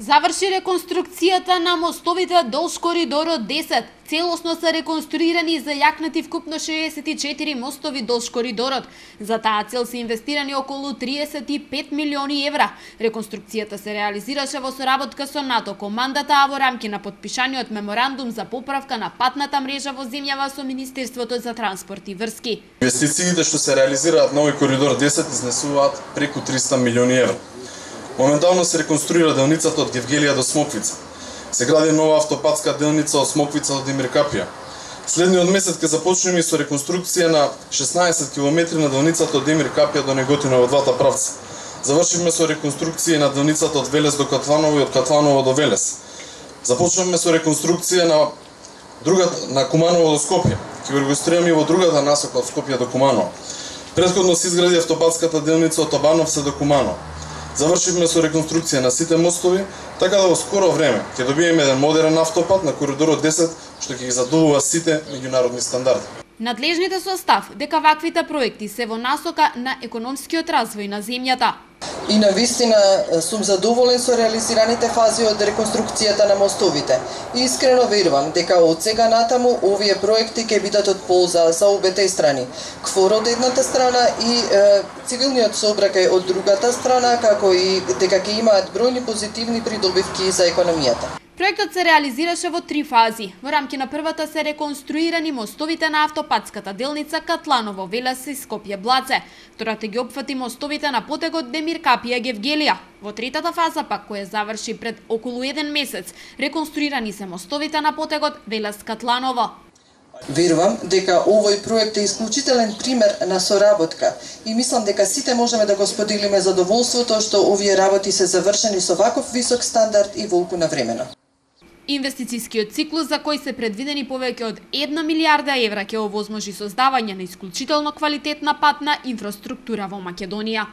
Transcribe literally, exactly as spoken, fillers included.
Заврши реконструкцијата на мостовите долж коридорот десет. Целосно се реконструирани и зајакнати вкупно шеесет и четири мостови долж коридорот. За таа цел се инвестирани околу триесет и пет милиони евра. Реконструкцијата се реализираше во соработка со НАТО командата, а во рамки на потпишаниот меморандум за поправка на патната мрежа во земјава со Министерството за транспорт и врски. Инвестициите што се реализираат на овој коридор десет изнесуваат преку триста милиони евра. Моментално се реконструира делницата од Гевгелија до Смоквица. Се гради нова автопатска делница од Смоквица до Демиркапија. Следниот месец ќе започнеме и со реконструкција на шеснаесет километри на делницата од Демиркапија до Неготино во двата правца. Завршивме со реконструкција на делницата од Велес до Катланово и од Катланово до Велес. Започнавме со реконструкција на другата на Куманово до Скопје. Ќе го регистрираме и во другата насока од Скопје до Куманово. Претходно се изгради автопатската делница од Обановце до Куманово. Завршивме со реконструкција на сите мостови, така да во скоро време ќе добиеме еден модерен автопат на коридорот десет што ќе ги задоволува сите меѓународни стандарди. Надлежните со став дека ваквите проекти се во насока на економскиот развој на земјата. И навистина сум задоволен со реализираните фази од реконструкцијата на мостовите. И искрено верувам дека од сега натаму овие проекти ќе бидат од полза за обете страни. КФОР од едната страна и е, цивилниот сообраќај од другата страна, како и дека ќе имаат бројни позитивни придобивки за економијата. Проектот се реализираше во три фази. Во рамки на првата се реконструирани мостовите на автопатската делница Катланово, Велес и Скопје Блаце. Втората ги опфати мостовите на потегот Демиркапија Гевгелија. Во третата фаза пак, која заврши пред околу еден месец, реконструирани се мостовите на потегот Велес Катланово. Верувам дека овој проект е исклучителен пример на соработка и мислам дека сите можеме да го споделиме задоволството што овие работи се завршени со ваков висок стандард и волку на времено. Инвестицијскиот циклус, за кој се предвидени повеќе од една милијарда евра, ќе овозможи создавање на исклучително квалитетна патна инфраструктура во Македонија.